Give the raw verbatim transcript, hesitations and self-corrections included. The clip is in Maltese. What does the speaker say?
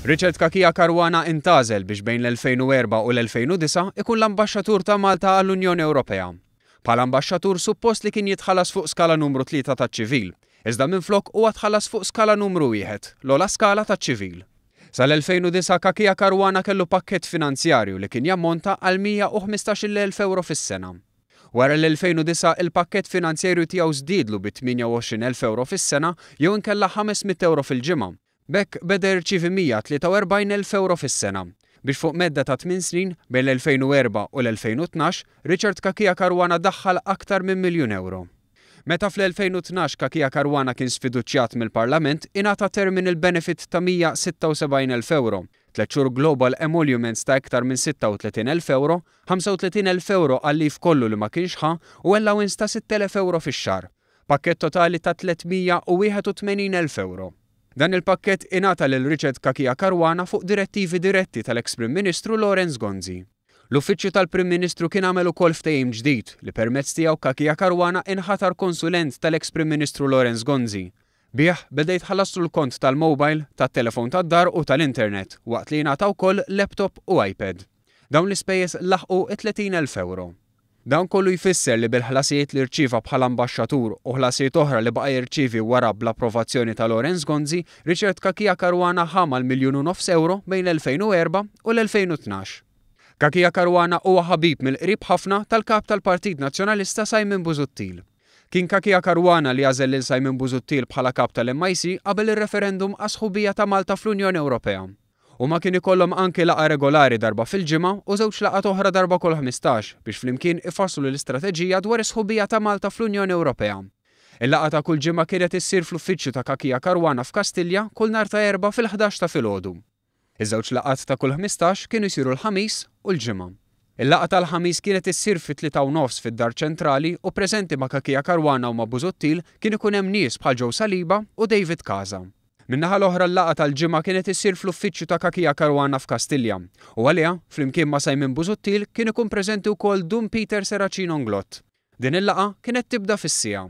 Richard Cachia Caruana intgħażel biex bejn l-elfejn u erbgħa u l-elfejn u disgħa ikun l-ambaxxatur ta' Malta għall-Unjoni Ewropea. Bħala ambaxxatur suppost li kien jitħallas fuq skala numru tlieta taċ-ċivil, iżda minflok huwa tħallas fuq skala numru wieħed, l-ogħla skala taċ-ċivil. Sal-elfejn u disgħa Cachia Caruana kellu pakkett finanzjarju li kien jammonta għal mija u ħmistax-il elf euro fis-sena. Wara l-elfejn u disgħa il-pakkett finanzjarju tiegħu żdiedlu bi tmienja u għoxrin elf euro fis-sena jew inkella ħames mitt euro fil-ġimgħa. B'hekk beda jirċievi mija tlieta u erbgħin elf euro fis-sena. Biex fuq medda ta' tmien snin, bejn l-elfejn u erbgħa u l-elfejn u tnax, Richard Cachia Caruana daħħal aktar minn miljun euro. Meta fl-elfejn u tnax Cachia Caruana kien sfiduċjat mill-Parlament, ingħata terminal benefit ta' mija sitta u sebgħin elf euro, tliet xhur global emoluments ta' iktar minn sitta u tletin elf euro, ħamsa u tletin elf euro għal-leave kollu li ma kienx ħa u allowance ta' sitt elef euro fix-xahar. Pakkett totali ta' tliet mija u wieħed u tmenin elf euro. Dan il-pakkett ingħata lil Richard Cachia Caruana fuq direttivi diretti tal-ex-Prim Ministru Lawrence Gonzi. L-Uffiċċju tal-Prim Ministru kien għamel ukoll ftehim ġdid li permezz tiegħu Cachia Caruana inħatar konsulent tal-ex-Prim Ministru Lawrence Gonzi. Bih beda jitħallaslu l-kont tal-mobile, tat-telefon tad-dar u tal-internet, waqt li jingħata wkoll laptop u iPad. Dawn l-ispejjeż laħqu tletin elf euro. Dan kollu jfisser li bil-ħlasijiet li rċieva bħala ambaxxatur u ħlasijiet oħra li baqa' jirċievi wara bl-approvazzjoni ta' Lawrence Gonzi, Richard Cachia Caruana ħa mal-miljun u nofs euro bejn l-elfejn u erbgħa u l-elfejn u tnax. Cachia Caruana huwa ħabib mill-qrib ħafna tal-kap tal-Partit Nazzjonalista Simon Busuttil. Kien Cachia Caruana li għażel lil Simon Busuttil bħala kap tal-M I C qabel ir-referendum għas-sħubija ta' Malta fl-Unjoni Ewropea. Huma kien ikollhom anki laqgħa regolari darba fil-ġimgħa u żewġ laqgħat oħra darba kull ħmistax biex flimkien ifasslu l-istrateġija dwar is-sħubija ta' Malta fl-Unjoni Ewropea. Il-laqgħa ta' kull ġimgħa kienet issir fl-uffiċċju ta' Cachia Caruana f'Kastilja kull nhar ta' Erbgħa fil-ħdax ta' filgħodu. Iż-żewġ laqgħat ta' kull ħmistax kienu jsiru l-Ħamis u l-Ġimgħa. Il-laqgħa tal-Ħamis kienet issir fit-tlieta u nofs fid-Dar Ċentrali u preżenti ma' Cachia Caruana u ma' Busuttil kien ikun hemm nies bħal Joe Saliba u David Casa. Min-naħa l-oħra l-laqgħa tal-ġimgħa kienet issir fl-uffiċċju ta' Cachia Caruana f'Kastilja u għaliha, flimkien ma' Simon Busuttil, kien ikun preżenti wkoll Dun Peter Serracino Inglott. Din il-laqgħa kienet tibda fis-siegħa.